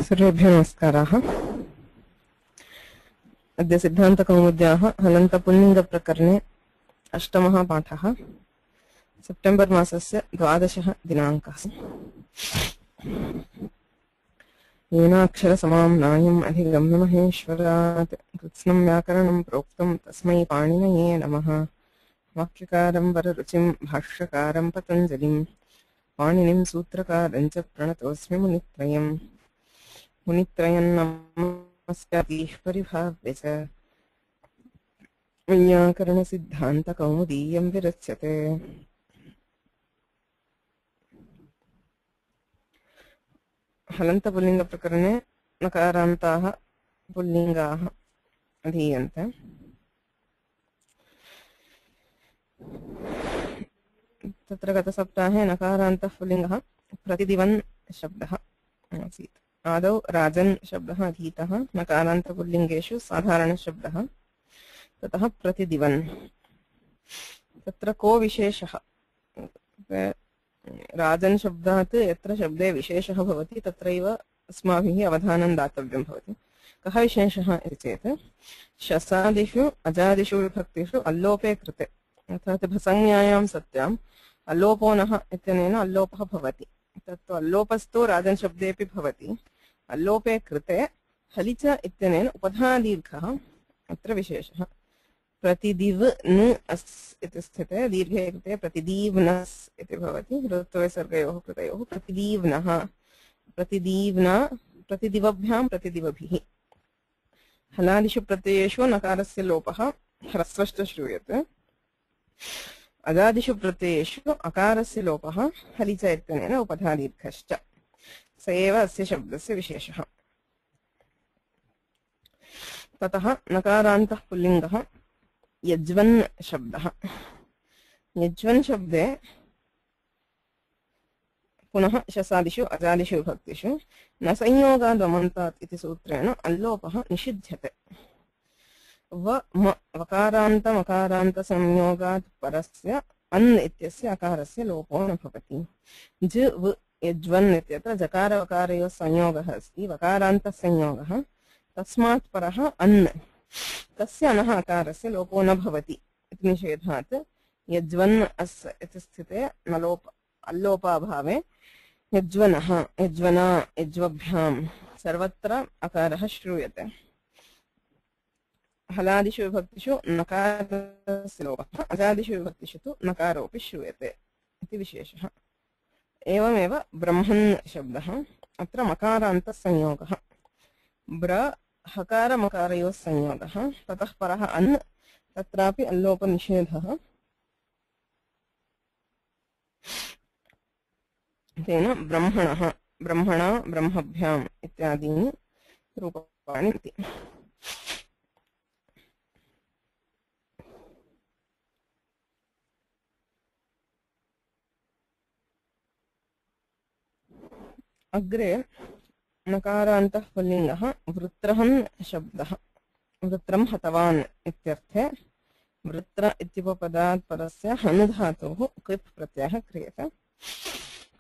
सर्वेभ्यो नमस्काराः। अद्य सिद्धान्तकौमुद्याः हलन्तपुल्लिङ्गप्रकरणे अष्टमः पाठः। सेप्टेम्बर् मासस्य 12 दिनाङ्कः। येनाक्षरसमां नायम् अधिगम्य महेश्वरात् कृत्स्नं व्याकरणं प्रोक्तं तस्मै पाणिनये नमः। वाक्यकारं वररुचिं भाष्यकारं पतञ्जलिं पाणिनिं सूत्रकारं च प्रणतोऽस्मि मुनित्रयम्। मुनित्रयं नमस्काराः परिभाव्य च वैयाकरणसिद्धान्तकौमुदीयं विरच्यते। हलन्तपुल्लिङ्गप्रकरणे नकारान्ताः पुल्लिङ्गाः अधीयन्ते। तत्र गतसप्ताहे नकारान्तः पुल्लिङ्गः प्रतिदिवन् शब्दः आसीत्। आदौ राजन् शब्दः अधीतः, नकारान्तपुल्लिङ्गेषु साधारणशब्दः, ततः प्रतिदिवन्। तत्र को विशेषः? राजन् शब्दात् यत्र शब्दे विशेषः भवति तत्रैव अस्माभिः अवधानं दातव्यं भवति। कः विशेषः इति चेत् शसादिषु अजादिषु विभक्तिषु अल्लोपे कृते अर्थात् भसंज्ञायां सत्याम् अल्लोपो नः इत्यनेन अल्लोपः भवति। तत्तु अल्लोपस्तु राजन् शब्देऽपि भवति। अल्लोपे कृते हलिच इत्यनेन उपधादीर्घः अत्र विशेषः। प्रतिदिव न अस् इति स्थिते दीर्घे कृते प्रतिदीव्नस् इति भवति। ऋत्वविसर्गयोः कृतयोः प्रतिदीव्नः, प्रतिदीव्ना, प्रतिदिवभ्यां प्रतिदिवभिः। हलादिषु प्रत्ययेषु नकारस्य लोपः ह्रस्वश्च श्रूयते। अजादिषु प्रत्ययेषु अकारस्य लोपः हलिच इत्यनेन उपधादीर्घश्च। स एव अस्य शब्दस्य विशेषः। ततः नकारान्तः पुल्लिङ्गः यज्वन् शब्दः। यज्वन् शब्दे पुनः शसादिषु अजादिषु विभक्तिषु न संयोगादमन्तात् इति सूत्रेण अल्लोपः निषिध्यते। वकारान्तमकारान्तसंयोगात् परस्य अन् इत्यस्य अकारस्य लोपो न भवति। ज व यज्वन् इत्यत्र जकारवकारयोः संयोगः अस्ति, वकारान्तः संयोगः, तस्मात् परः अन्, तस्य अनः अकारस्य लोपो न भवति इति निषेधात् यज्वन् अस् इति स्थिते अल्लोपाभावे यज्वनः, यज्वना, यज्वभ्यां सर्वत्र अकारः श्रूयते। हलादिषु विभक्तिषु नकारस्य लोपः, अजादिषु विभक्तिषु तु नकारोऽपि श्रूयते इति विशेषः। एवमेव ब्रह्मन् शब्दः। अत्र मकारान्तसंयोगः, ब्र हकारमकारयोः संयोगः, ततः परः अन्, तत्रापि अल्लोपनिषेधः। तेन ब्रह्मणः, ब्रह्मणा, ब्रह्मभ्याम् इत्यादीनि रूपाणि सन्ति। अग्रे नकारान्तः पुल्लिङ्गः वृत्रहन् शब्दः। वृत्रं हतवान् इत्यर्थे वृत्र इत्युपपदात् परस्य हन् धातोः क्विप् प्रत्ययः क्रियते।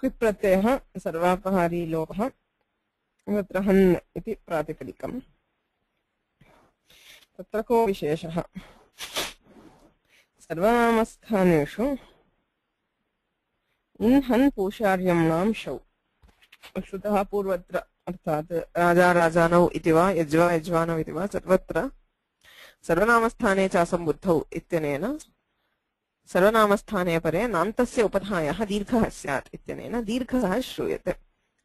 क्विप् प्रत्ययः सर्वापहारी लोपः। वृत्रहन् इति प्रातिपदिकम्। तत्र को विशेषः? सर्वनामस्थानेषु इन् हन् पूषार्यम्णां शौ श्रुतः पूर्वत्र, अर्थात् राजा राजानौ इति वा यज्वा यज्वानौ इति वा सर्वत्र सर्वनामस्थाने च असम्बुद्धौ इत्यनेन सर्वनामस्थाने परे नान्तस्य उपधायः दीर्घः स्यात् इत्यनेन दीर्घः श्रूयते।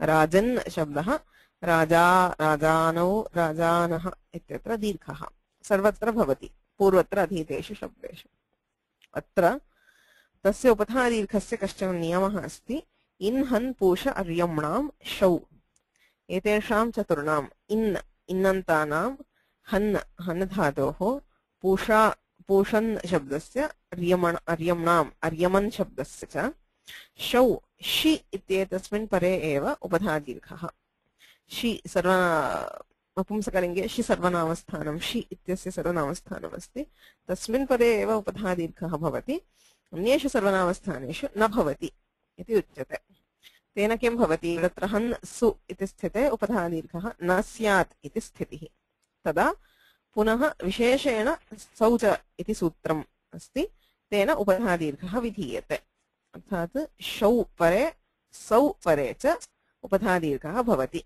राजन् शब्दः राजा, राजानौ, राजानः इत्यत्र दीर्घः सर्वत्र भवति पूर्वत्र अधीतेषु शब्देषु। अत्र तस्य उपधादीर्घस्य कश्चन नियमः अस्ति। इन् हन् पूष अर्यम्णां शौ, एतेषां चतुर्णाम् इन् इन्नन्तानां, हन् हन् धातोः, पूषा पूषन् शब्दस्य, अर्यम्णाम् अर्यमन् शब्दस्य च, शौ शि इत्येतस्मिन् परे एव उपधादीर्घः। शि नपुंसकलिङ्गे शि सर्वनामस्थानं, शि इत्यस्य सर्वनामस्थानमस्ति, तस्मिन् परे एव उपधादीर्घः भवति। अन्येषु सर्वनामस्थानेषु न भवति इति उच्यते। तेन किं भवति वृत्रहन् सु इति स्थिते उपधादीर्घः न स्यात् इति स्थितिः तदा पुनः विशेषेण सौच इति सूत्रम् अस्ति तेन उपधादीर्घः विधीयते अर्थात् शौ परे सौ परे च उपधादीर्घः भवति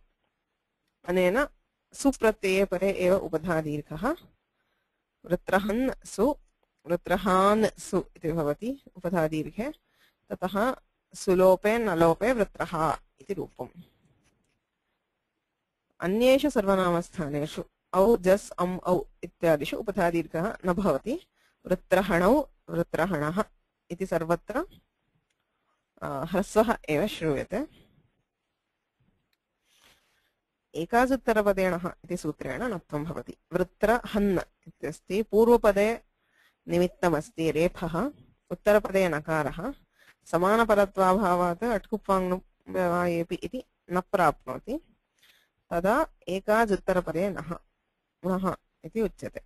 अनेन सुप्रत्यये परे एव उपधादीर्घः वृत्रहन् सु वृत्रहान् सु इति भवति उपधादीर्घे ततः सुलोपे नलोपे वृत्रः इति रूपम् अन्येषु सर्वनामस्थानेषु औ जस् अम् औ इत्यादिषु उपधादीर्घः न भवति वृत्रहणौ वृत्रहणः इति सर्वत्र ह्रस्वः एव श्रूयते एकाजुत्तरपदेणः इति सूत्रेण नत्वं भवति वृत्रहन् इत्यस्ति पूर्वपदे निमित्तमस्ति रेफः उत्तरपदे नकारः समानपरत्वाभावात् अट्कुप्वाङ्नुव्यवायेपि इति न प्राप्नोति तदा एकाजुत्तरपदे नः इति उच्यते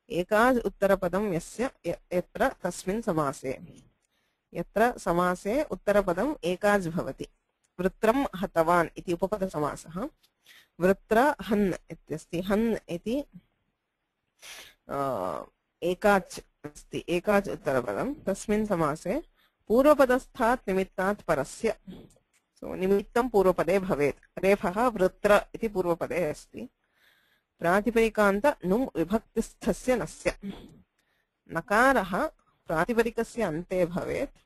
एकाज् उत्तरपदं यस्य यत्र तस्मिन् समासे यत्र समासे उत्तरपदम् एकाज् भवति वृत्रं हतवान् इति उपपदसमासः वृत्रहन् इत्यस्ति हन् इति एकाच् अस्ति एकाच् उत्तरपदं तस्मिन् समासे पूर्वपदस्थात् निमित्तात् परस्य सो निमित्तं पूर्वपदे भवेत् रेफः वृत्र इति पूर्वपदे अस्ति प्रातिपदिकान्त नुम् विभक्तिस्थस्य नस्य नकारः प्रातिपदिकस्य अन्ते भवेत्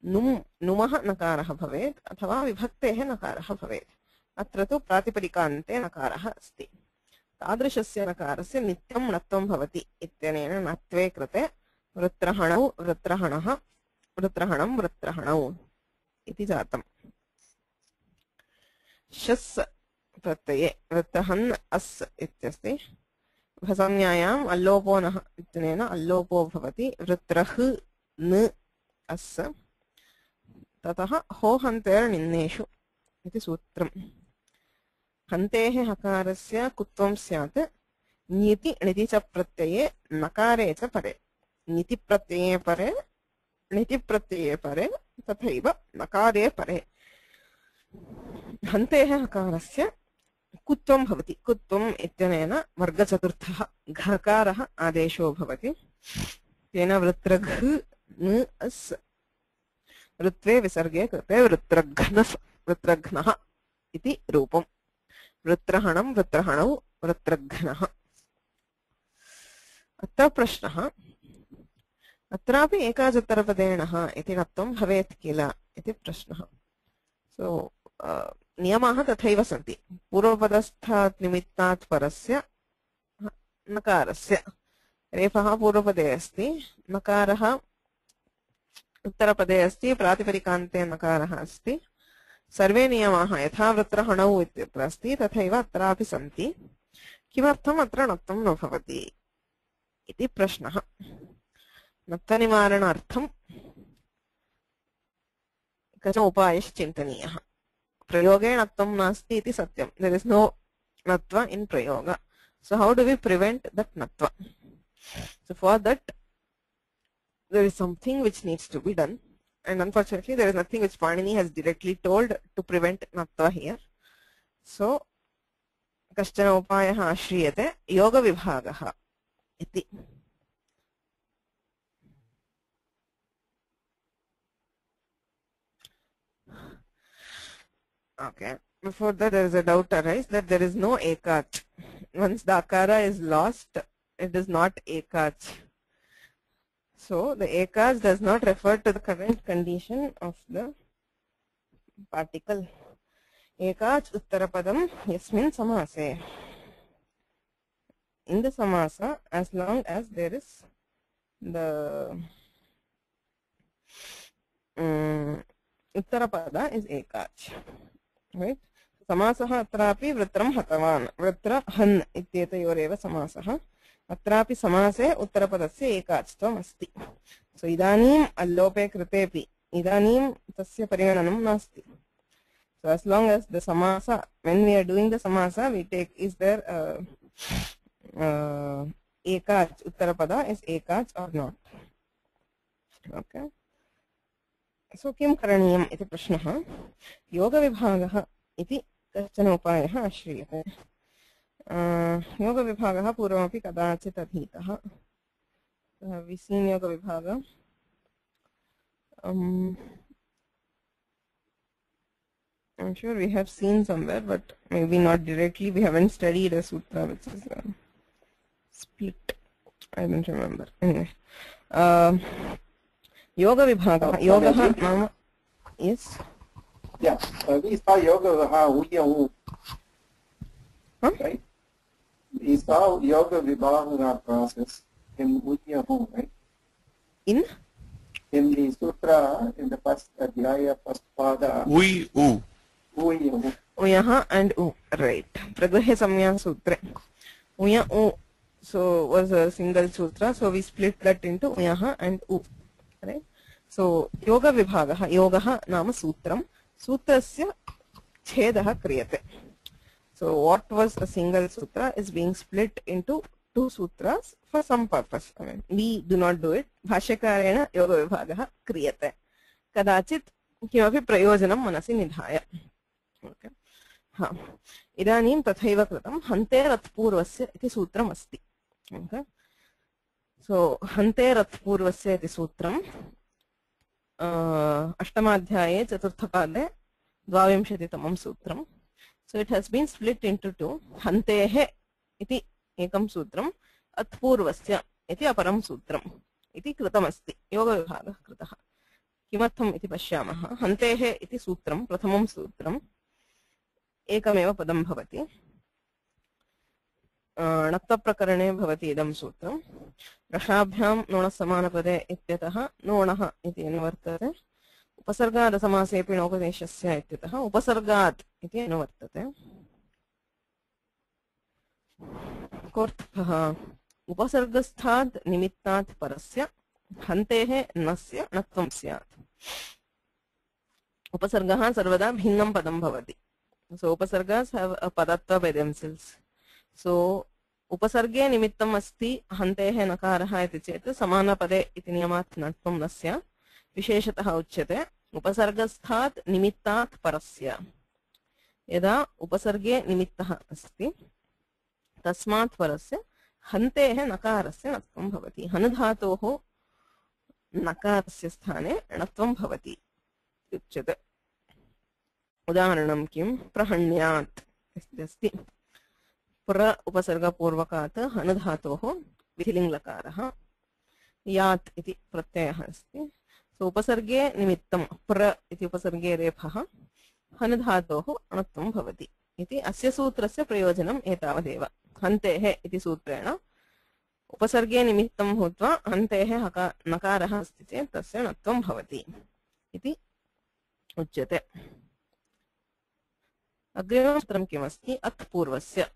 नुमः नकारः भवेत् अथवा विभक्तेः नकारः भवेत् अत्र तु प्रातिपदिकान्ते नकारः अस्ति तादृशस्य नकारस्य नित्यं णत्वं भवति इत्यनेन णत्वे कृते वृत्रहणौ वृत्रहणः वृत्रहणं वृत्रहणौ इति जातम् शस् प्रत्यये वृत्रहन् अस् इत्यस्ति भसंज्ञायाम् अल्लोपो नः इत्यनेन अल्लोपो भवति वृत्रः न अस् ततः हो हन्तेर् निन्नेषु इति सूत्रम् हन्तेः हकारस्य कुत्वं स्यात् ञिति णिति च प्रत्यये नकारे च परे ञिति प्रत्यये परे तथैव नकारे परे हन्तेः हकारस्य कुत्वं भवति कुत्वम् इत्यनेन वर्गचतुर्थः घकारः आदेशो भवति तेन वृत्रघ न अस् वृत्वे विसर्गे कृते वृत्रघ्नः इति रूपम् वृत्रहणं वृत्रहणौ वृत्रघ्नः अत्र प्रश्नः अत्रापि एकाजुत्तरपदेणः इति णत्वं भवेत् किल इति प्रश्नः सो नियमाः तथैव सन्ति पूर्वपदस्थात् निमित्तात् परस्य नकारस्य रेफः पूर्वपदे अस्ति नकारः उत्तरपदे अस्ति प्रातिपदिकान्ते नकारः अस्ति सर्वे नियमाः यथा वृत्रहणौ इत्यत्र अस्ति तथैव अत्रापि सन्ति किमर्थम् अत्र णत्वं न भवति इति प्रश्नः णत्वनिवारणार्थं कश्चन उपायः चिन्तनीयः प्रयोगे णत्वं नास्ति इति सत्यं देयर इज नो णत्व इन प्रयोग so how do we prevent that natva so for that there is something which needs to be done and unfortunately there is nothing which Panini has directly told to prevent natva here so कश्चन उपायः आश्रियते योगविभागः इति okay before that there is a doubt arise that there is no ekach once the akara is lost it is not ekach so the ekach does not refer to the current condition of the particle ekach uttarapadam yasmin samase in the samasa as long as there is the uttarapada is ekach right समासः अत्रापि वृत्रं हतवान् वृत्रहन् इत्येतयोरेव समासः अत्रापि समासे उत्तरपदस्य एकाच्त्वम् अस्ति सो इदानीम् अल्लोपे कृतेपि इदानीं तस्य परिगणनं नास्ति so as long as the samasa when we are doing the samasa we take is there ekach uttarapada is ekach or not okay सो किं करणीयम् इति प्रश्नः योगविभागः इति कश्चन उपायः आश्रीयते योगविभागः पूर्वमपि कदाचित् अधीतः विसीन् I'm sure we have seen somewhere, but maybe not directly. We haven't studied a sutra which is split. I don't remember. Anyway, yoga vibhaga. Yoga nama. Yes. Yeah, we saw yoga uya Huh? right? We saw yoga vibhaga process in uya right? In the sutra, in the first adhyaya, first pada. Uyu. Uyaha and U. Right. Pragrahe samya sutra. Uya U. So was a single sutra. So we split that into Uyaha and U. Right. So yoga vibhagaha. Yogaha nama sutram. Sutrasya chedaha kriyate. So what was a single sutra is being split into two sutras for some purpose. I mean, we do not do it. Bhashyakarena yoga vibhagaha kriyate. Kadachit किमपि प्रयोजनं मनसि निधाय. Okay. हाँ. इदानीं तथैव कृतं हन्तेरत्पूर्वस्य इति सूत्रम् अस्ति. Okay. So हन्तेरत्पूर्वस्य इति सूत्रम् अष्टमाध्याये चतुर्थपादे 22तमं सूत्रम्. So it has been split into two. हन्तेः इति एकं सूत्रम् अत्पूर्वस्य इति अपरं सूत्रम् इति कृतमस्ति. योगविभागः कृतः. किमर्थम् इति पश्यामः. हन्तेः इति सूत्रं प्रथमं सूत्रम् एकमेव पदं भवति. णत्वप्रकरणे भवति इदं सूत्रम्. रसाभ्यां नोणसमानपदे इत्यतः नोणः इति अनुवर्तते. उपसर्गादसमासेऽपि नोपदेशस्य इत्यतः उपसर्गात् इति अनुवर्तते. कोऽर्थः उपसर्गस्थात् निमित्तात् परस्य हन्तेः नस्य णत्वं स्यात्. उपसर्गः सर्वदा भिन्नं पदं भवति. So उपसर्गास् have a padatva by themselves. So उपसर्गे निमित्तम् अस्ति हन्तेः नकारः इति चेत् समानपदे इति नियमात् णत्वं न स्यात्. विशेषतः उच्यते उपसर्गस्थात् निमित्तात् परस्य. यदा उपसर्गे निमित्तः अस्ति तस्मात् परस्य हन्तेः नकारस्य णत्वं भवति. हनुधातोः नकारस्य स्थाने णत्वं भवति उच्यते. उदाहरणं किं प्रहण्यात् अस्ति. प्र उपसर्गपूर्वकात् हनुधातोः विधिलिङ्गलकारः यात् इति प्रत्ययः अस्ति. सो उपसर्गे निमित्तं प्र इति उपसर्गे रेफः हनुधातोः णत्वं भवति इति अस्य सूत्रस्य प्रयोजनम् एतावदेव. हन्तेः इति सूत्रेण उपसर्गे निमित्तं भूत्वा हन्तेः नकारः अस्ति चेत् तस्य णत्वं भवति इति उच्यते. अग्रिमं सूत्रं किमस्ति अत्पूर्वस्य.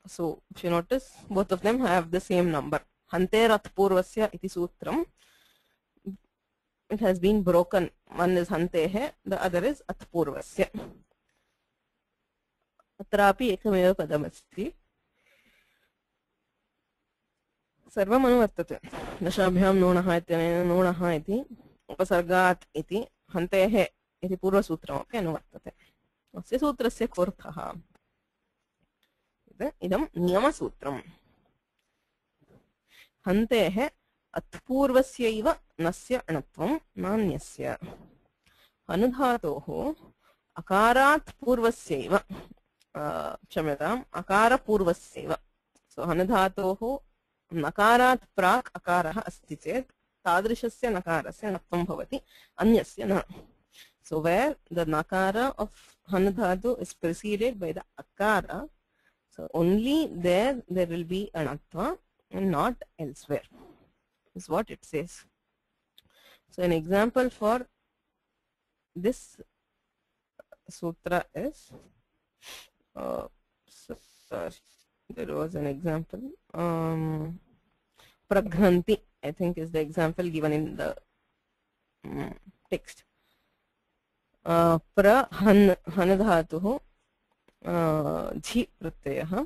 So if you notice both of them have the same number. Hanter atpurvasya iti sutram. It has been broken. One is hantehe, the other is atpurvasya. Atrapi ekameva padamasti. सर्वम् अनुवर्तते. दशाभ्यां नूणः इत्यनेन नूणः इति उपसर्गात् इति हन्तेः इति पूर्वसूत्रमपि अनुवर्तते. अस्य सूत्रस्य कोऽर्थः? इदं नियमसूत्रम्. हन्तेः अत्पूर्वस्यैव नस्य णत्वं नान्यस्य. अनुधातोः अकारात् पूर्वस्यैव क्षम्यताम् अकारपूर्वस्यैव. सो अनुधातोः नकारात् प्राक् अकारः अस्ति चेत् तादृशस्य नकारस्य णत्वं भवति, अन्यस्य न. So where the nakara of hanudhatu is preceded by the akara, so only there will be a णत्वा and not elsewhere, is what it says. So an example for this sutra is, there was an example, praghanti, I think is the example given in the text. Pra hanadhatuh झि प्रत्ययः.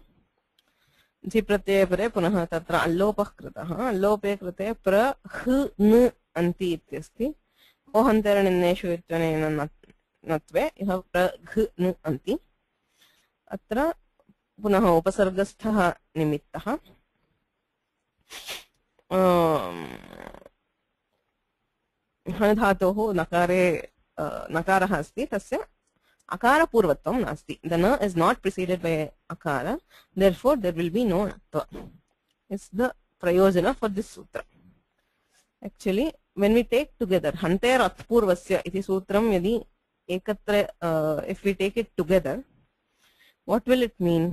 झि प्रत्यये परे पुनः तत्र अल्लोपः कृतः. अल्लोपे कृते प्र ह न अन्ति इत्यस्ति. ओहन्तरनिन्नेषु इत्यनेन नत्वे इह प्रघ्नु अन्ति अत्र पुनः उपसर्गस्थः निमित्तः धातोः नकारे नकारः अस्ति तस्य अकारपूर्वत्वं नास्ति द न इज नॉट प्रीसीडेड बाय अकार therefore there will be no natva is the prayojana for this sutra actually when we take together hanter atpurvasya iti sutram yadi ekatra if we take it together what will it mean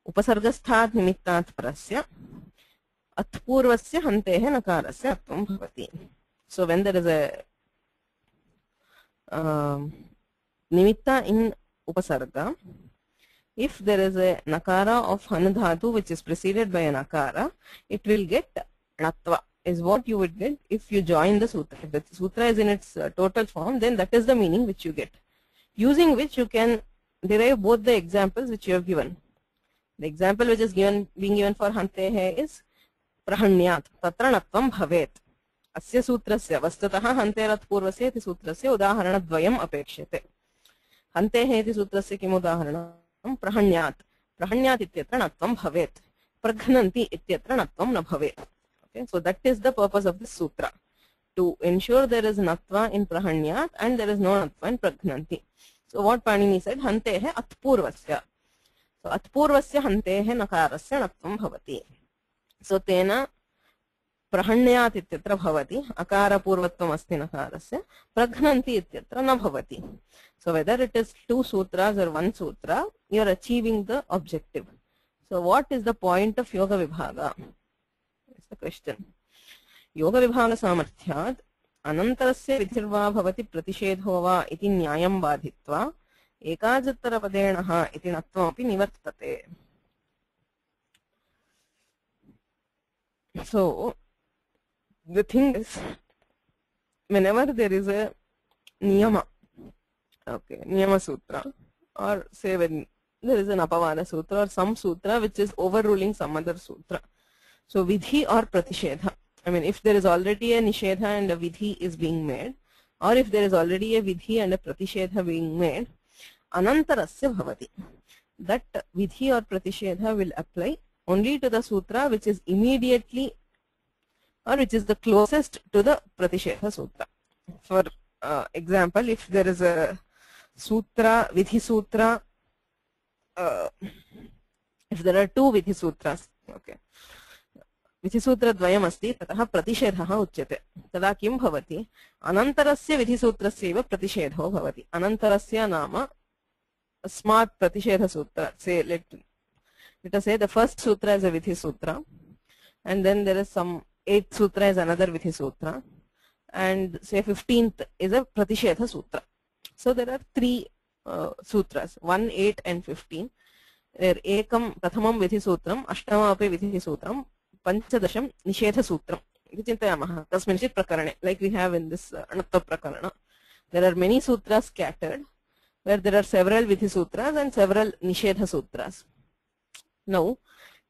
upasargasthat nimittat parasya atpurvasya hantehe nakarasya atvam bhavati so when there is a nimitta in upasarga if there is a nakara of han dhatu which is preceded by a nakara it will get natva is what you would get if you join the sutra if the sutra is in its total form then that is the meaning which you get using which you can derive both the examples which you have given the example which is being given for hantehe is prahanyat tatra natvam bhavet अस्य सूत्रस्य वस्तुतः हन्तेरत् पूर्वस्य इति सूत्रस्य उदाहरणद्वयम् अपेक्ष्यते हन्तेः इति सूत्रस्य किम् उदाहरणं प्रहण्यात् प्रहण्यात् इत्यत्र नत्वं भवेत् प्रघ्नन्ति इत्यत्र नत्वं न भवेत् okay so that is the purpose of this sutra to ensure there is natva in prahanyat and there is no natva in praghnanti so what Panini said hanteः atpurvasya so atpurvasya hanteः nakarasya natvam bhavati so tena प्रहण्यात् इत्यत्र भवति अकारपूर्वत्वम् अस्ति नकारस्य प्रघ्नन्ति इत्यत्र न भवति so whether it is two sutras or one sutra you are achieving the objective so what is the point of yoga vibhaga is the question yoga vibhaga samarthyat anantarasya vidhirva bhavati pratishedo va iti nyayam badhitva ekajattarapadenah iti natvam api nivartate so the thing is whenever there is a niyama okay niyama sutra or say when there is an apavada sutra or some sutra which is overruling some other sutra so vidhi or pratishedha I mean if there is already a nishedha and a vidhi is being made or if there is already a vidhi and a pratishedha being made anantarasya bhavati that vidhi or pratishedha will apply only to the sutra which is immediately or which is the closest to the pratishedha sutra for example if there is a sutra vidhi sutra if there are two vidhi sutras okay vidhi sutra dvayam asti tatah pratishedhah uchyate tada kim bhavati anantarasya vidhi sutrasya eva pratishedho bhavati anantarasya nama asmat pratishedha sutra say let us say the first sutra is a vidhi sutra and then there is some 8th sutra is another vidhi sutra and say 15th is a pratishedha sutra so there are three sutras 1 8 and 15 there ekam prathamam vidhi sutram ashtama api vidhi sutram panchadasham nishedha sutram iti chintayamah tasminchit prakarane like we have in this anatva prakarana there are many sutras scattered where there are several vidhi sutras and several nishedha sutras now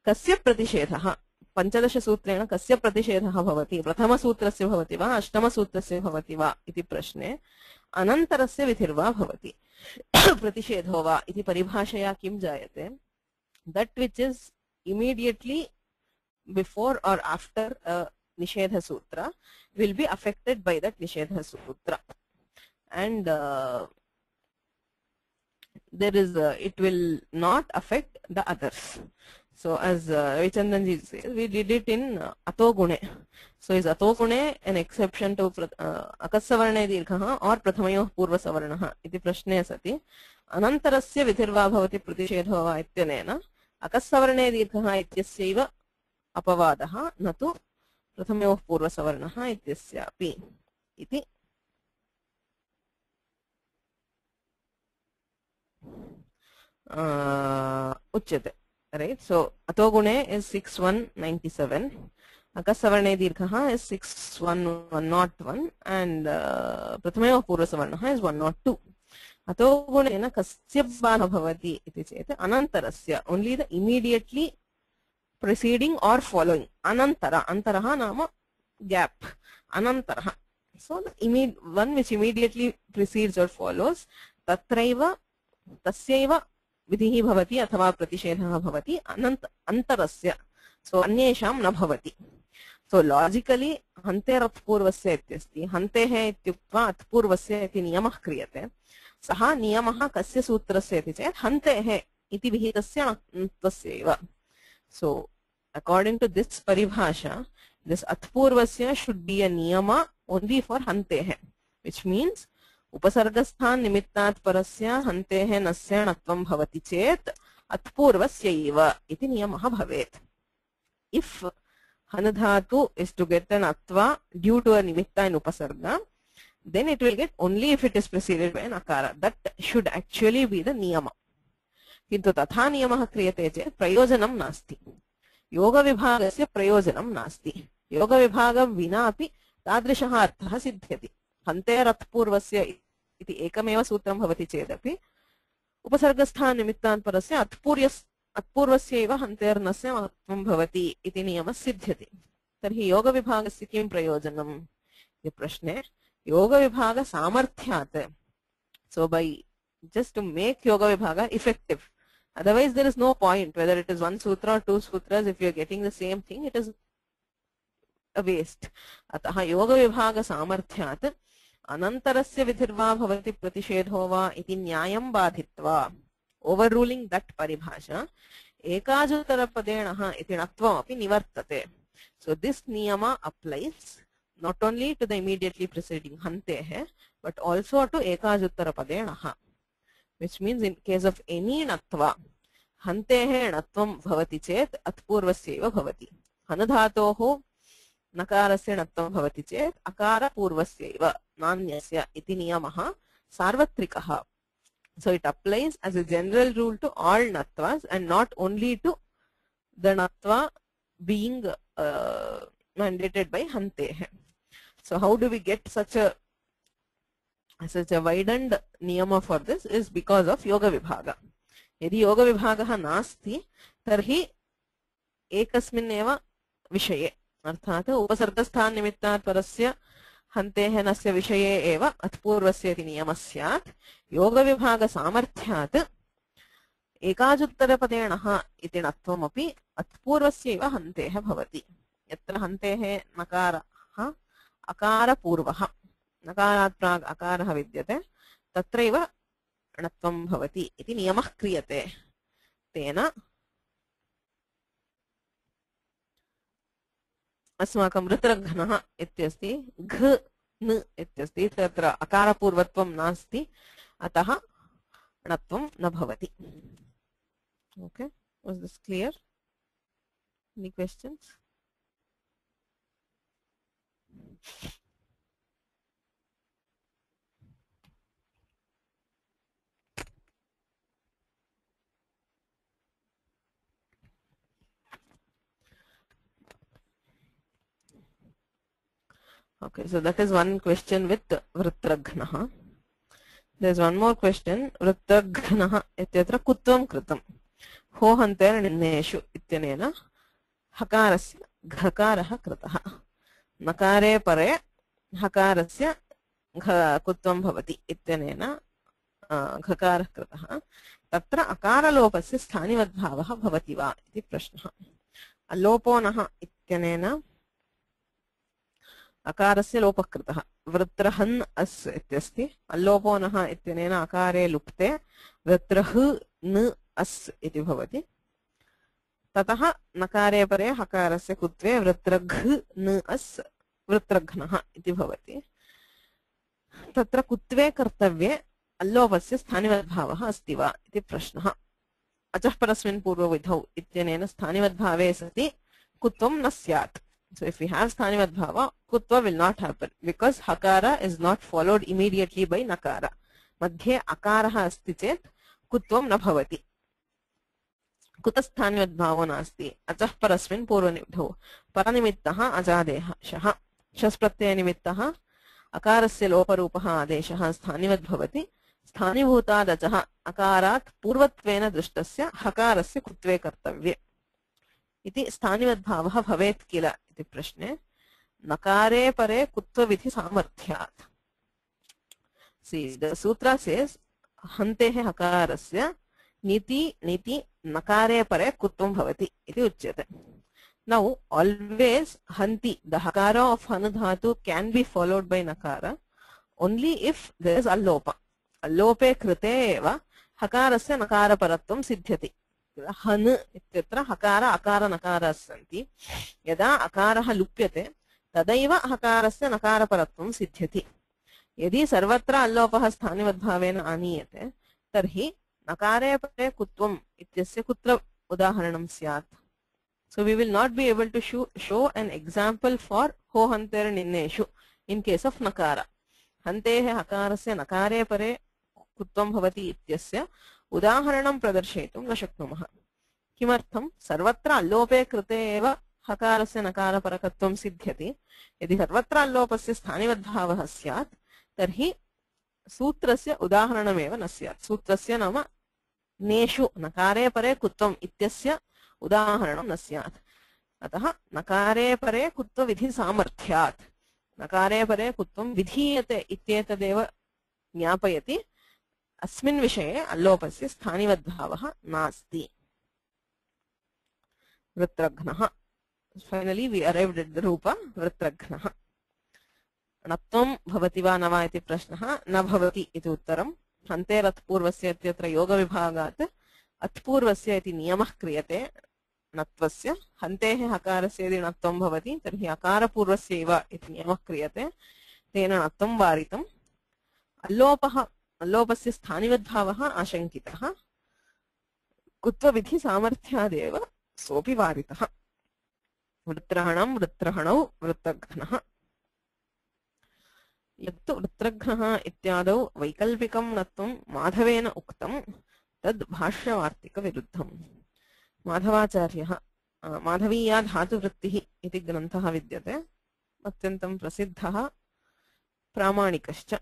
kasya pratishedha पंचदश सूत्रेण कस्य प्रतिषेधः भवति प्रथमसूत्रस्य भवति वा अष्टमसूत्रस्य भवति वा इति प्रश्ने अनन्तरस्य विधिर्वा भवति प्रतिषेधो वा इति परिभाषया किं जायते that which is immediately before or after a nishedha sutra will be affected by that nishedha sutra and there is it will not affect the others so as Ravichandranji says we did it in atogune so is atogune an exception to akassavarne dirghah or prathamayoh purvasavarnah iti prashne sati anantarasya vidhirva bhavati pratishedho va ityanena akassavarne dirghah ityasyaiva apavadah natu prathamayoh purvasavarnah ityasyapi iti uchyate right so atogune is 6197 akasavarne dirghah is 61101 and prathamayoh purvasavarnah is 102 atogune kasya bana bhavati iti chet anantarasya only the immediately preceding or following anantara antaraha nama gap anantara So the one which immediately precedes or follows, tatraiva tasyaiva vidhihi bhavati athava pratishedah bhavati antarasya. So anyesham na bhavati. So logically hante ratpurvasya ityasti, hante hai ityuktva atpurvasya iti niyamah kriyate. Saha niyamah kasya sutrasya iti chet hante hai iti vihitasya tasyaiva. So according to this paribhasha, this atpurvasya should be a niyama only for hantehe, which means upasargasthan nimittat parasya hantehe nasya natvam bhavati chet atpurvasyaiva iti niyamah bhavet. If hanadhatu is to get an atva due to a nimitta in upasarga, then it will get only if it is preceded by an akara. That should actually be the niyama. Kintu tatha niyamah kriyate chet prayojanam nasti. Yoga vibhagasya prayojanam nasti. Yoga vibhagam vina api तादृशः अर्थः सिद्ध्यति. हन्तेरत्पूर्वस्य इति एकमेव सूत्रं भवति चेदपि उपसर्गस्थान निमित्तान् परस्य अत्पूर्वस्य एव हन्तेर्नस्य महत्त्वं भवति इति नियमः सिद्ध्यति. तर्हि योगविभागस्य किं प्रयोजनम् इति प्रश्ने योगविभाग सामर्थ्यात्. So by just to make yoga vibhaga effective, otherwise there is no point whether it is one sutra or two sutras. If you are getting the same thing, it is a waste. अतः योग विभाग सामर्थ्यात् अनन्तरस्य विधिर्वा भवति प्रतिषेधो वा इति न्यायं बाधित्वा overruling that paribhasha ekajuttarapadena iti णत्वमपि निवर्तते. So this niyama applies not only to the immediately preceding hantehe but also to ekajuttarapadena, which means in case of any णत्वा hantehe णत्वं भवति चेत् atpurvasyaiva bhavati. hanadhatoः नकारस्य णत्वं भवति चेत् अकार पूर्वस्यैव नान्यस्य इति नियमः सार्वत्रिकः. So it applies as a general rule to all nattvas and not only to the nattva being mandated by hantehe. So how do we get such a widened niyama for this is because of yoga vibhaga. यदि योग विभागः नास्ति तर्हि एकस्मिन् एव विषये अर्थात उपसर्गस्थान निमित्तात् परस्य हन्तेः नस्य विषये एव अत्पूर्वस्य इति नियमः स्यात्. योग विभाग सामर्थ्यात् एकाजुत्तरपदेणः इति णत्वमपि अत्पूर्वस्य एव हन्तेः भवति. यत्र हन्तेः नकारः अकारपूर्वः, नकारात् प्राग् अकारः विद्यते, तत्रैव णत्वं भवति इति नियमः क्रियते. तेन अस्माकं वृत्रघ्नः इत्यस्ति, घ न इत्यस्ति, तत्र अकारपूर्वत्वं नास्ति, अतः णत्वं न भवति. Okay, was this clear? Any questions? Okay, so that is one question with Vritraghnaha. There is one more question. Vritraghnaha ityatra kutvam kritam. Ho hanter ninneshu ityanena hakarasya ghakaraha kritah. Nakare pare hakarasya kutvam bhavati ityanena ghakaraha kritah. Tatra akaralopasya sthanivadbhavah bhavati va iti prashnah. Aloponah ityanena अकारस्य लोपः कृतः. वृत्रहन् अस् इत्यस्ति, अल्लोपो नः इत्यनेन अकारे लुप्ते वृत्रः न अस् इति भवति. ततः नकारे परे हकारस्य कुत्वे वृत्रघ् न अस् वृत्रघ्नः इति भवति. तत्र कुत्वे कर्तव्ये अल्लोपस्य स्थानिवद्भावः अस्ति वा इति प्रश्नः. अचः परस्मिन् पूर्वविधौ इत्यनेन स्थानिवद्भावे सति कुत्वं न स्यात्. So if we have sthanivadbhava, kutva will not happen because hakara is not followed immediately by nakara. Madhye akaraha asti chet kutvam na bhavati. Kutasthanivadbhavo nasti. Achah parasmin purvanibdho. Paranimittaha ajadeha shaha. Shaspratyaya nimittaha akarasya loparupaha adeshaha sthanivadbhavati. Sthanibhutad achaha akarat purvatvena drishtasya hakarasya kutve kartavye. इति स्थानिवद्भावः भवेत् किल इति प्रश्ने नकारे परे कुत्वविधि सामर्थ्यात्. See, the sutra says हन्तेः हकारस्य नीति नीति नकारे परे कुत्वं भवति इति उच्यते. Now always hanti, the hakara of hanu dhatu can be followed by nakara only if there is allopa. Allope krite eva hakarasya nakara paratvam siddhyati. Han ityatra hakara akara nakaras santi. Yada akaraha lupyate तदैव हकारस्य नकारपरत्वं सिद्ध्यति. यदि सर्वत्र अल्लोपः स्थानिवद्भावेन आनीयते तर्हि नकारे परे कुत्वम् इत्यस्य कुत्र उदाहरणं स्यात्? So we will not be able to show an example for ho hanter ninneshu in case of nakara. Hantehe hakarasya nakare pare kutvam bhavati ityasya udaharanam pradarshyitum न शक्नुमः. किमर्थं? सर्वत्र अल्लोपे कृते एव हकारस्य नकारपरकत्वं सिद्ध्यति. यदि सर्वत्र अल्लोपस्य स्थानिवद्भावः स्यात् तर्हि सूत्रस्य उदाहरणमेव न स्यात्. सूत्रस्य नाम नेषु नकारे परे कुत्वम् इत्यस्य उदाहरणं न स्यात्. अतः नकारे परे कुत्वविधि सामर्थ्यात् नकारे परे कुत्वं विधीयते इत्येतदेव ज्ञापयति. अस्मिन् विषये अल्लोपस्य स्थानिवद्भावः नास्ति. वृत्रघ्नः. Finally we arrived at the rupa वृत्रघ्नः. नत्वं भवति वा न वा इति प्रश्नः. न भवति इति उत्तरं. हन्तेरत्पूर्वस्य इत्यत्र योगविभागात् अत्पूर्वस्य इति नियमः क्रियते नत्वस्य. हन्तेः हकारस्य यदि नत्वं भवति तर्हि अकारपूर्वस्य एव इति नियमः क्रियते. तेन नत्वं वारितम्. अल्लोपस्य स्थानिवद्भावः आशङ्कितः. कुत्वविधि सामर्थ्यादेव सोऽपि वारितः. वृत्रहणं वृत्रहणौ वृत्रघ्नः. यत्तु वृत्रघ्नः इत्यादौ वैकल्पिकं नत्वं माधवेन उक्तं तद् भाष्यवार्तिकविरुद्धम्. माधवाचार्यः माधवीया धातुवृत्तिः इति ग्रन्थः विद्यते. अत्यन्तं प्रसिद्धः प्रामाणिकश्च.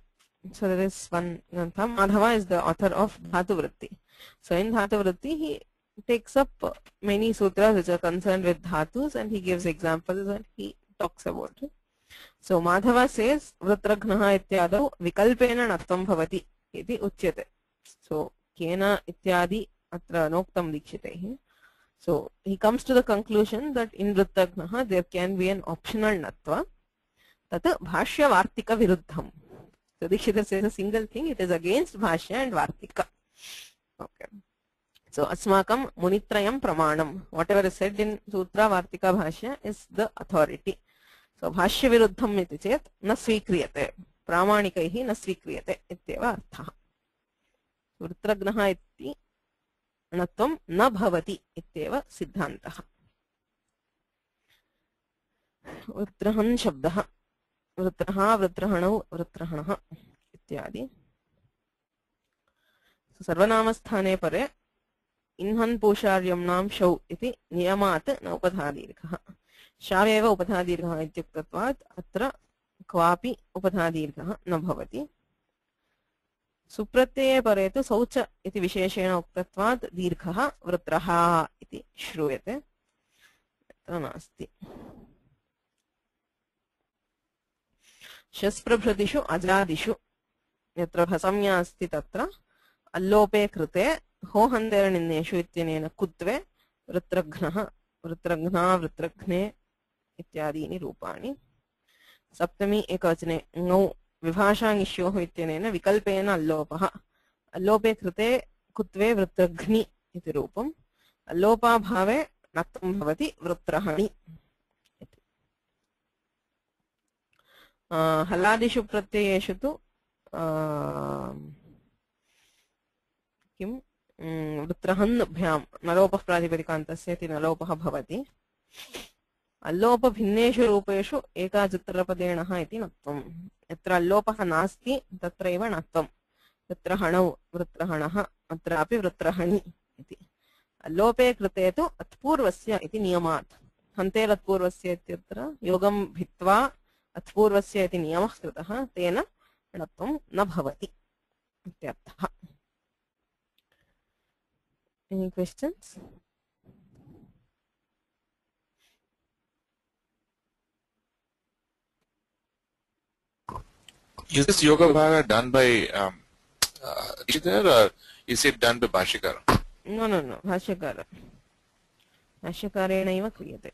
So there is one grantha. Madhava is the author of Dhatuvritti. So in Dhatuvritti he takes up many sutras which are concerned with dhatus and he gives examples and he talks about it. So Madhava says Vrutraghnaha ityadau vikalpena natvam bhavati iti uchyate. So kena ityadi atra noktam dikshitehi. So he comes to the conclusion that in Vrutraghnaha there can be an optional natva. Tat bhashya vartika viruddham. So Dikshita says a single thing, it is against bhashya and vartika. Okay. So asmakam munitrayam pramanam. Whatever is said in sutra vartika bhashya is the authority. So bhashya viruddham iti chet na svikriyate. Pramanikaihi na svikriyate ityeva arthah. Vrutragnaha iti natvam na bhavati ityeva siddhantah. Vrutrahan shabdah. वृत्रः वृत्रहणौ वृत्रहणः इत्यादि. सर्वनामस्थाने परे इन्हन् पूषार्यम्नां शौ इति नियमात् न उपधादीर्घः. शावेव उपधादीर्घः इत्युक्तत्वात् अत्र क्वापि उपधादीर्घः न भवति. सुप्रत्यये परे तु शौच इति विशेषेण उक्तत्वात् दीर्घः वृत्रः इति श्रूयते. अत्र नास्ति. शस्प्रभृतिषु अजादिषु यत्र भसंज्ञा अस्ति तत्र अल्लोपे कृते हो हन्तेर्निन्नेषु इत्यनेन कुत्वे वृत्रघ्नः वृत्रघ्ना वृत्रघ्ने इत्यादीनि रूपाणि. सप्तमी एकवचने ङौ विभाषाङिष्योः इत्यनेन विकल्पेन अल्लोपः. अल्लोपे कृते कुत्वे वृत्रघ्नि इति रूपम्. अल्लोपाभावे नत्वं भवति वृत्रहणि. हलादिषु प्रत्ययेषु तु किं वृत्रहन्भ्यां नलोपः प्रातिपदिकान्तस्य इति नलोपः भवति. अल्लोपभिन्नेषु रूपेषु एकाचुत्तरपदेणः इति नत्वम्. यत्र अल्लोपः नास्ति तत्रैव नत्वम्. वृत्रहणौ वृत्रहणः अत्रापि वृत्रहणि इति. अल्लोपे कृते तु अत्पूर्वस्य इति नियमात्. हन्तेरत्पूर्वस्य इत्यत्र योगं भित्त्वा अत्पूर्वस्य इति नियमः कृतः. तेन णत्वं न भवति इत्यर्थः. Any questions? Is this yoga bhaga done by Dikshiter, or is it done by Bhashikara? No, no, no. Bhashyakara. Bhashyakarena eva kriyate.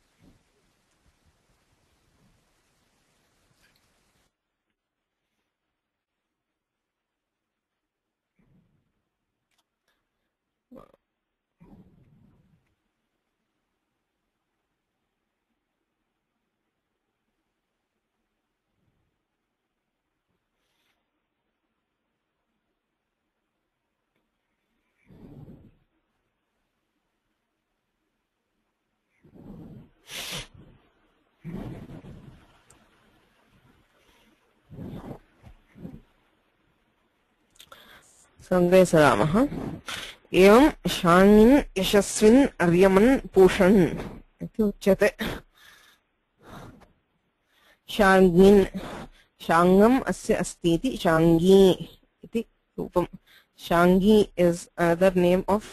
संग्रहे सरामः एवं शाङ्गिन् यशस्विन् अर्यमन् पूषन् इति उच्यते शाङ्गिन् शाङ्गम् अस्य अस्ति इति शाङ्गी इति रूपम् Shangi is another name of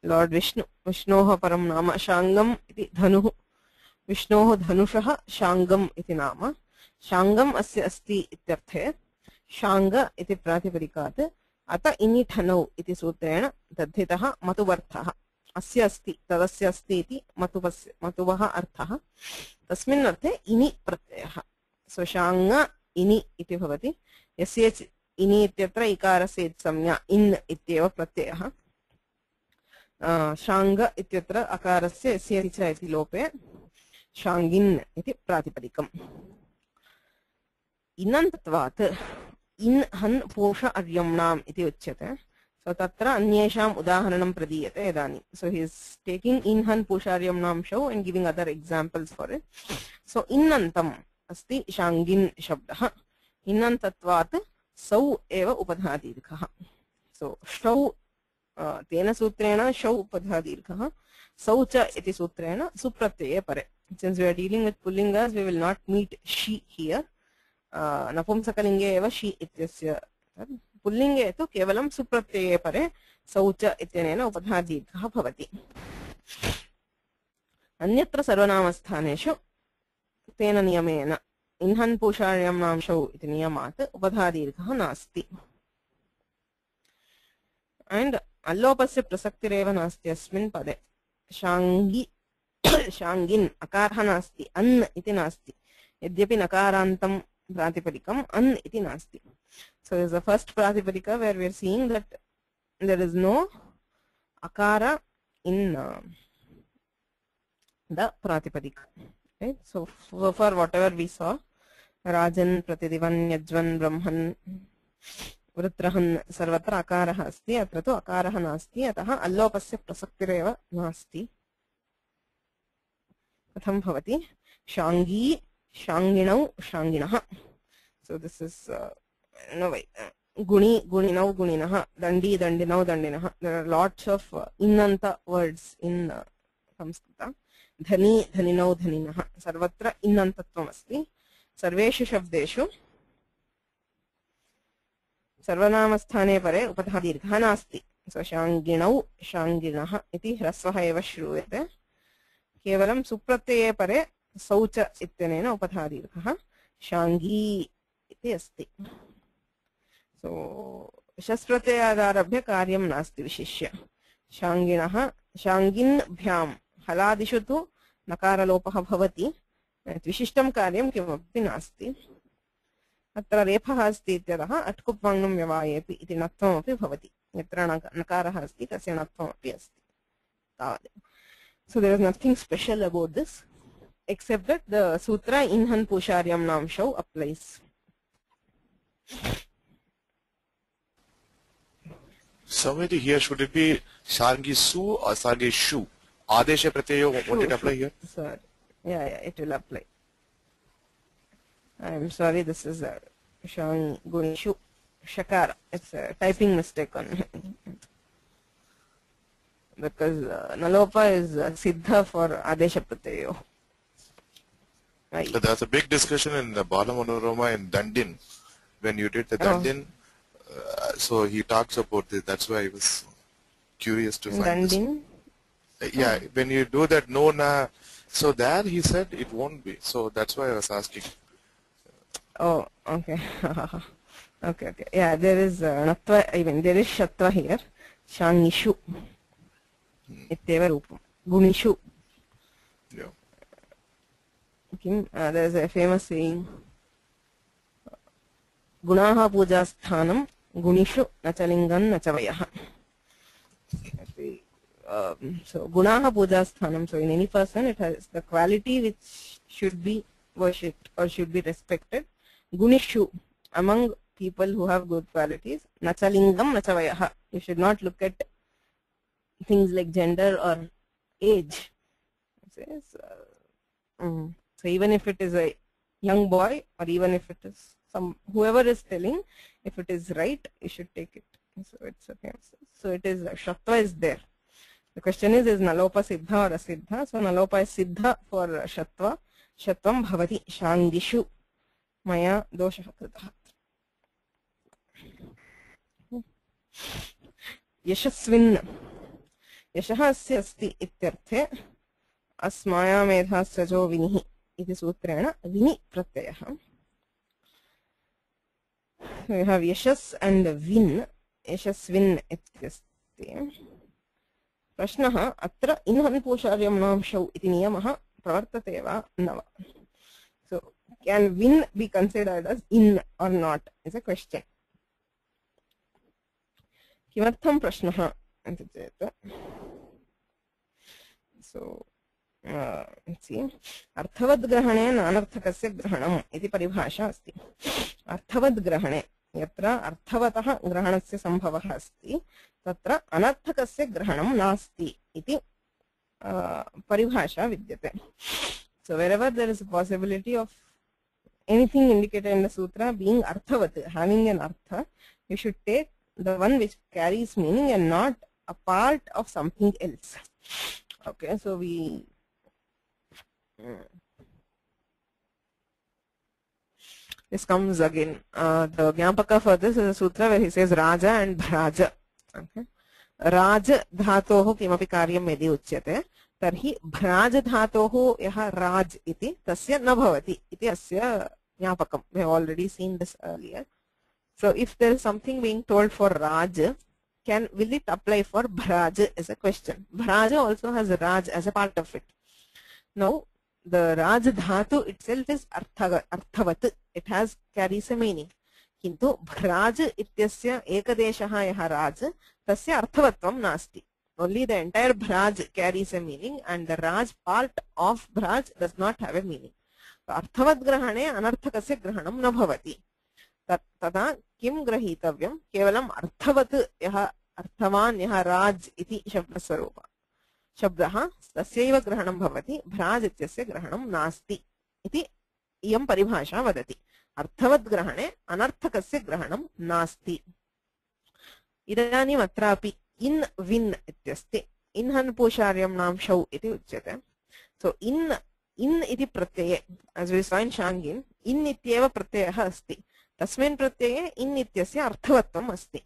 lord Vishnu विष्णोः परं नाम शाङ्गम् इति धनुः विष्णोः धनुषः शाङ्गम् इति नाम शाङ्गम् अस्य अस्ति इत्यर्थे शाङ्ग इति प्रातिपदिकात् अत इनि ठनौ इति सूत्रेण तद्धितः मतुवर्थः अस्य अस्ति तदस्य अस्ति इति मतुवः अर्थः तस्मिन् अर्थे इनि प्रत्ययः सो शाङ्ग इनि इति भवति यस्य इनि इत्यत्र इकारस्य संज्ञा इन् इत्येव प्रत्ययः शाङ्ग इत्यत्र अकारस्य यस्य च इति लोपे शाङ्गिन् इति प्रातिपदिकम् इनन्तत्वात् इन् हन् पूष अर्यम्णाम् इति उच्यते सो तत्र अन्येषाम् उदाहरणं प्रदीयते इदानीं सो ही इस् टेकिंग इन् हन् पूष अर्यम्णां शो and giving other examples for it so इन्नन्तम् अस्ति शाङ्गिन् शब्दः इन्नन्तत्वात् सौ एव उपधादीर्घः सो शौ तेन सूत्रेण शौ उपधादीर्घः सौ च इति सूत्रेण सुप्रत्यये परे since we are dealing with pullingas we will not meet she here नपुंसकलिंगे एव शी इत्यस्य पुल्लिंगे तु केवलं सुप्रत्यये परे सौच इत्यनेन उपधादीर्घः भवति अन्यत्र सर्वनामस्थानेषु तेन नियमेन इन्हन् पूषार्यम्णां शौ इति नियमात् उपधादीर्घः नास्ति and अल्लोपस्य प्रसक्तिरेव नास्ति अस्मिन् पदे शाङ्गी शाङ्गिन् अकारः नास्ति अन् इति नास्ति यद्यपि नकारान्तं प्रातिपदिकम् अन् इति नास्ति so this is the first pratipadika where we are seeing that there is no akara in the pratipadika right so for whatever we saw rajan pratidivan yajvan brahman वृत्रहन् सर्वत्र अकारः अस्ति अत्र तु अकारः नास्ति अतः अल्लोपस्य प्रसक्तिरेव नास्ति कथं भवति शाङ्गी शाङ्गिणौ शाङ्गिणः so this is no way guni guninau guninah dandi dandinau dandinah there are lots of innanta words in Sanskrita dhani dhaninau dhaninah sarvatra innantatvam asti sarveshu shabdeshu सर्वनामस्थाने परे उपधादीर्घः नास्ति सो शाङ्गिणौ शाङ्गिणः इति ह्रस्वः एव श्रूयते केवलं सुप्रत्यये परे सौच इत्यनेन उपधादीर्घः शाङ्गी इति अस्ति सो शस्प्रत्ययादारभ्य कार्यं नास्ति विशिष्य शाङ्गिणः शाङ्गिन्भ्यां हलादिषु तु नकारलोपः भवति विशिष्टं कार्यं किमपि नास्ति अत्र रेफः अस्ति इत्यतः अट्कुप्वाङ्गं व्यवायेपि इति नत्वमपि भवति यत्र नकारः अस्ति तस्य नत्वमपि अस्ति तावदेव so there is nothing special about this except that the sutra inhan pusharyam nam shau applies Samiti here should it be shangi su or shangi shu adesha pratyayo won't it apply here sir yeah it will apply I'm sorry, this is a Shangunishu Shakara. It's a typing mistake on because Nalopa is Siddha for Adesha Pratyayo. Right. So there's a big discussion in the Bala Manorama in Dandin when you did the Dandin. So he talks about this. That's why I was curious to find Dandin? This. Yeah, when you do that no na, so there he said it won't be. So that's why I was asking. Oh, okay. Okay, okay. Yeah, there is natva, I mean, there is shatva here. Shangishu. Ityeva rupam. Gunishu. Yeah. There is a famous saying. Gunaha puja sthanam gunishu nachalingam nachavayaha. So gunaha puja sthanam. So in any person, it has the quality which should be worshipped or should be respected. Gunishu, among people who have good qualities. Nachalingam nachavayaha. You should not look at things like gender or age. It says, so even if it is a young boy or even if it is whoever is telling, if it is right, you should take it. So it's okay. So it is shatva is there. The question is nalopa siddha or asiddha? So nalopa is siddha for shatva. Shatvam bhavati shangishu maya doshah kritah. Yashasvin. Yashah asya asti ityarthe asmaya medha sajo vinihi iti sutrena vini pratyayah. We have yashas and vin. Yashasvin ityasti. Prashnaha atra inhan pusharyam namshau iti niyamah pravartate va nava. So can vin be considered as in or not is a question. Kimartham prashnaha iti cheta. So let's see. Arthavad grahane nanarthakasya grahanam iti paribhasha asti. Arthavad grahane yatra arthavatah grahanasya sambhavah asti tatra anarthakasya grahanam nasti iti paribhasha vidyate. So wherever there is a possibility of anything indicated in the sutra being arthavat, having an artha, you should take the one which carries meaning and not a part of something else. Okay, so we this comes again. The Jnapaka for this is a sutra where he says Raja and Bhraja. Okay, Raj dhatoh kimapi karyam yadi uchyate tarhi Bhraj dhatoh yaha Raj iti tasya na bhavati iti asya Jnapakam. We have already seen this earlier. So if there is something being told for Raj, will it apply for Bhraj is a question. Bhraj also has Raj as a part of it. Now the Raj dhatu itself is arthavat. It carries a meaning. Kintu Bhraj ityasya ekadeshaha yaha Raj tasya arthavatvam nasti. Only the entire Bhraj carries a meaning and the Raj part of Bhraj does not have a meaning. So arthavat grahane anarthakasya grahanam na bhavati. Tada kim grahitavyam kevalam arthavat yaha arthavan yaha Raj iti shabdaswarupa. Shabdaha tasyaiva grahanam bhavati Bhraj ityasya grahanam nasti iti iyam paribhasha vadati. Arthavat grahane anarthakasya grahanam nasti. Idanim atrapi in vin ityasti. Inhan pusharyam namshau iti uchyate. So in iti pratyaye, as we saw in Shangin, in ityeva pratyayah asti. Tasmin pratyaye in ityasya arthavatvam asti.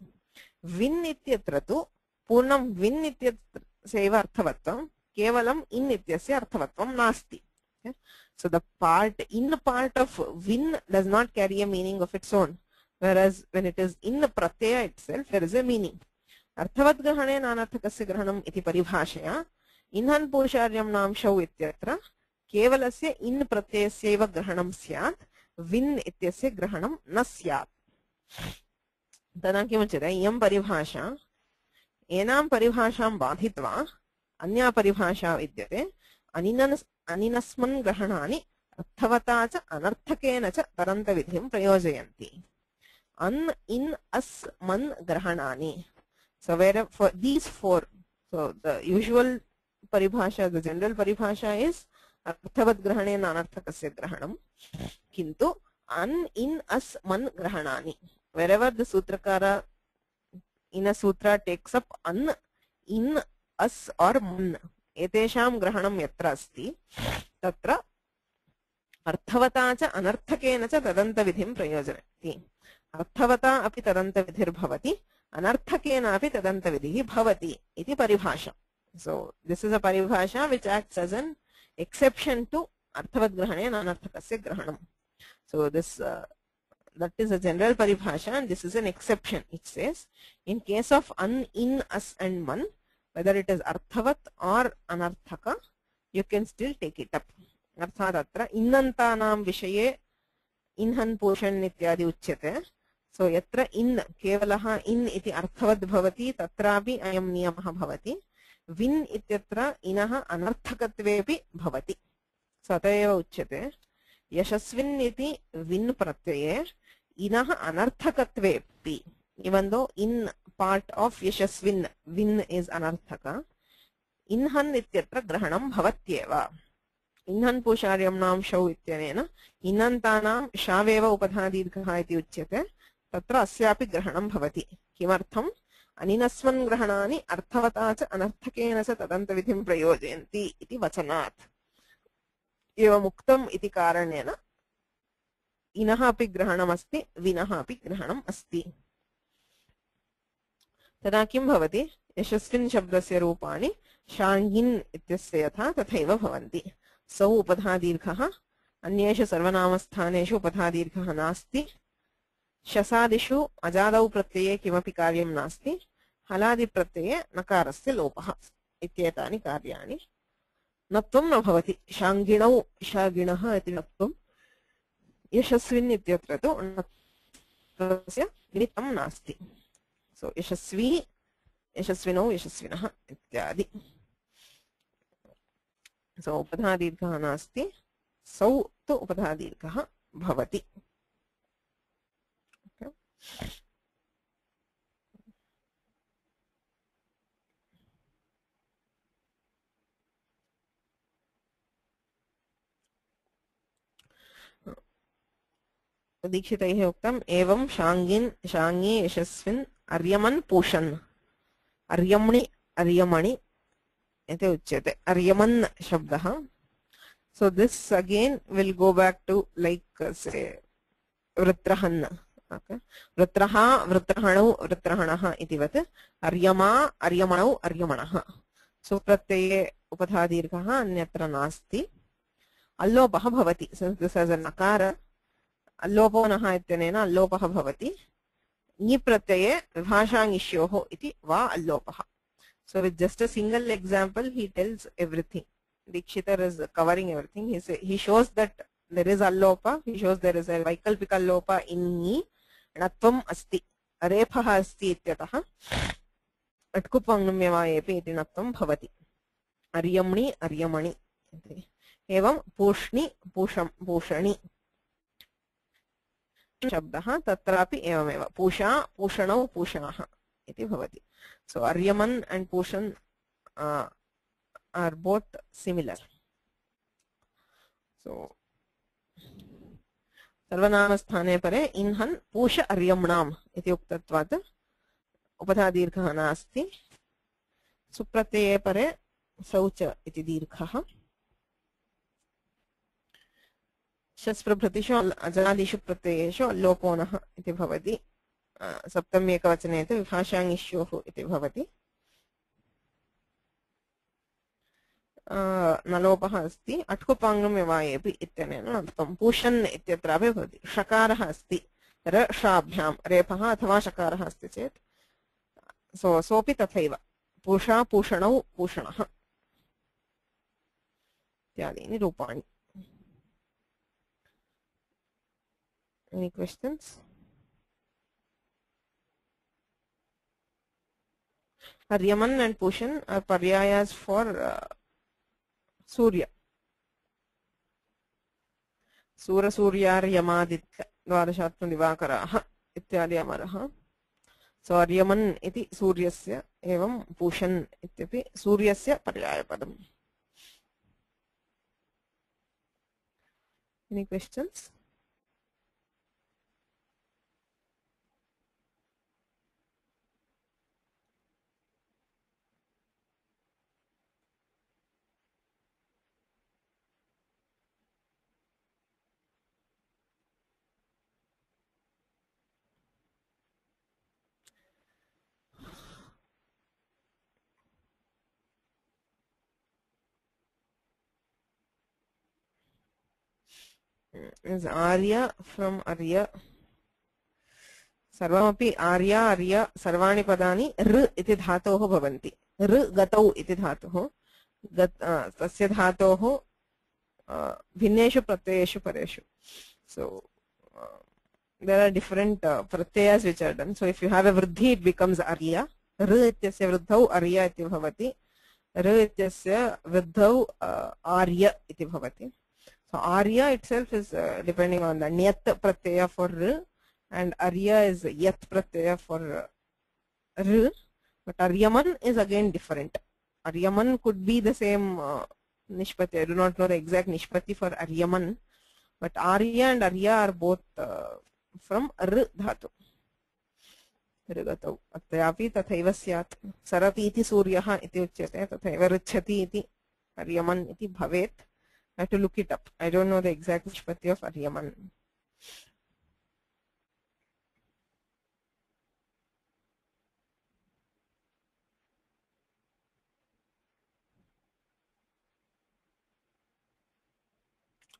Vin ityatra tu purnam vin ityatra seva arthavatvam kevalam in ityasya arthavatvam nasti. Okay? So the in part of vin does not carry a meaning of its own, whereas when it is in the pratyaya itself there is a meaning. Arthavat grahane nanarthakasya grahanam iti paribhashaya inhan pusharyam namshau ityatra kevalasya in pratyayasya grahanam syat vin ityasya grahanam na syat. Tada kimuchyate iyam paribhasha enam paribhasham badhitva anya paribhasha vidyate aninasman grahanani arthavata cha anarthakena cha taranta vidhim prayojayanti. An, in, as, man grahanani. So where for these four, so the usual paribhasha, the general paribhasha is arthavat grahane nanarthakasya grahanam. Kintu an, in, as, man grahanani. Wherever the sutrakara in a sutra takes up an, in, as or man, etesham grahanam yatra asti tatra arthavata cha anarthakena cha tadanta vidhim prayojanati. Arthavata api tadanta vidhir bhavati anarthakena api tadanta vidhi bhavati iti paribhasha. So this is a paribhasha which acts as an exception to arthavat grahane nanarthakasya grahanam. So this that is a general paribhasha, and this is an exception. It says, in case of an, in, as and man, whether it is arthavat or anarthaka, you can still take it up. अर्थात् अत्र इन्नन्तानां विषये इन्हन् पोषन् इत्यादि उच्यते. सो यत्र in केवलः in इति अर्थवद् भवति तत्रापि अयं नियमः भवति. विन् इत्यत्र इनः अनर्थकत्वेपि भवति. सो अत एव उच्यते यशस्विन् इति विन् प्रत्यये इनः अनर्थकत्वेपि. Even though in part of yashasvin, win is anarthaka, inhan ityatra grahanam bhavatyeva. Inhan pusharyamnam shau ityanena inantanam shaveva upadhadidghah iti uchyate tatra asyapi grahanam bhavati. Kimartham aninasvan grahanani arthavata cha anarthakena sa tadantavidhim prayojayanti iti vachanat. Eva muktam iti karanena inaha api grahanam asti, vinaha api grahanam asti. तदा किं भवति यशस्विन् शब्दस्य रूपाणि शाङ्गिन् इत्यस्य यथा तथैव भवन्ति. सौ उपधादीर्घः अन्येषु सर्वनामस्थानेषु उपधादीर्घः नास्ति. शसादिषु अजादौ प्रत्यये किमपि कार्यं नास्ति. हलादिप्रत्यये नकारस्य लोपः इत्येतानि कार्याणि. नत्वं न भवति. शाङ्गिणौ शागिणः इति नत्वं. यशस्विन् इत्यत्र तु नत्वस्य निमित्तं नास्ति. So yashasvi, yashasvino, yashasvinah ityadi. So upadhadirghah nasti, sau tu upadhadirghah bhavati. Okay. दीक्षितैः उक्तम् एवं शाङ्गिन् शाङ्गी यशस्विन् अर्यमन् पूषन् अर्यमणि अर्यमणि इति उच्यते. अर्यमन् शब्दः. So this again will go back to like say वृत्रहन्. Okay. वृत्रः वृत्रहणौ वृत्रहणः इतिवत् अर्यमा अर्यमणौ अर्यमणः. So प्रत्यये उपधादीर्घः अन्यत्र नास्ति. अल्लोपः भवति. Since this has a nakara, अल्लोपो नः इत्यनेन अल्लोपः भवति. ङि प्रत्यये विभाषाङिष्योः इति वा अल्लोपः. So with just a single example he tells everything. Dikshitar is covering everything. He shows that there is allopa. He shows there is a vaikalpika allopa in ङि. Natvam asti. Arepah asti ityatah. Atkupangnumyavayepi iti natvam bhavati. Aryamni aryamani. Evam pushni pusham pushani. शब्दः तत्रापि एवमेव पूषा पूषणौ पूषणः इति भवति. So Aryaman and Pushan are both similar. So सर्वनामस्थाने परे इन्हन् पूष अर्यम्णाम् इति उक्तत्वात् उपधादीर्घः नास्ति. सुप्रत्यये परे सौच इति दीर्घः. शस्प्रभृतिषु अजादिषु प्रत्ययेषु अल्लोपो नः इति भवति. सप्तमी एकवचने तु विभाषाङिष्योः इति भवति. नलोपः अस्ति. अट्कुपाङ्गम्यवायेपि इत्यनेन नत्वं. पूषन् इत्यत्रापि भवति. षकारः अस्ति रषाभ्यां रेफः अथवा षकारः अस्ति चेत् सोऽपि तथैव. पूषा पूषणौ पूषणः इत्यादीनि रूपाणि. Any questions? Aryaman and Pushan are paryayas for Surya. Sura Suryar Yamaditya Dvadashatma Divakaraha ityadi amaraha. So Aryaman iti Suryasya evam Pushan ityapi Suryasya paryayapadam. Any questions? Is Arya from Arya. सर्वमपि आर्या अर्य सर्वाणि पदानि ऋ इति धातोः भवन्ति ऋ गतौ इति धातुः तस्य धातोः भिन्नेषु प्रत्ययेषु परेषु so there are different pratyayas which are done so if you have a vruddhi it becomes arya ऋ इत्यस्य वृद्धौ अर्य इति भवति ऋ इत्यस्य वृद्धौ आर्य इति भवति so arya itself is depending on the nyat pratyaya for r and arya is yat pratyaya for r but aryaman is again different aryaman could be the same nishpati I do not know the exact nishpati for aryaman but arya and arya are both from r dhatu ऋगतौ अत्रापि तथैव स्यात् सरति इति सूर्यः इति उच्यते तथैव ऋच्छति इति अर्यमन् इति भवेत् I have to look it up. I don't know the exact nishpati of Aryaman.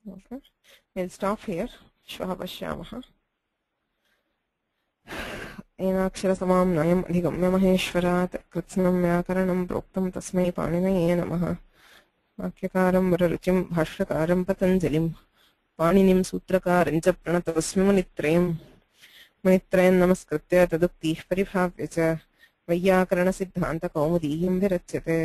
Okay, we'll stop here. Shvah pashyamah. एनाक्षरसमां नयम् अधिगम्य महेश्वरात् कृत्स्नं व्याकरणं प्रोक्तं तस्मै पाणिनये नमः वाक्यकारं वररुचिं भाष्यकारं पतञ्जलिं पाणिनिं सूत्रकारं च प्रणतोऽस्मि मुनित्रयं नमस्कृत्य तदुक्तिः परिभाव्य च वैयाकरणसिद्धान्तकौमुदीयं विरच्यते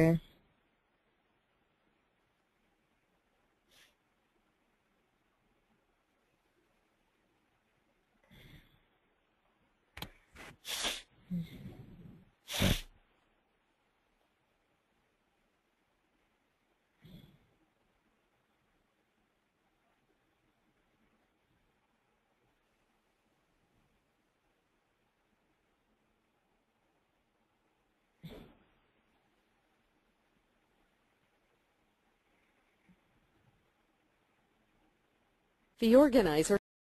The organizer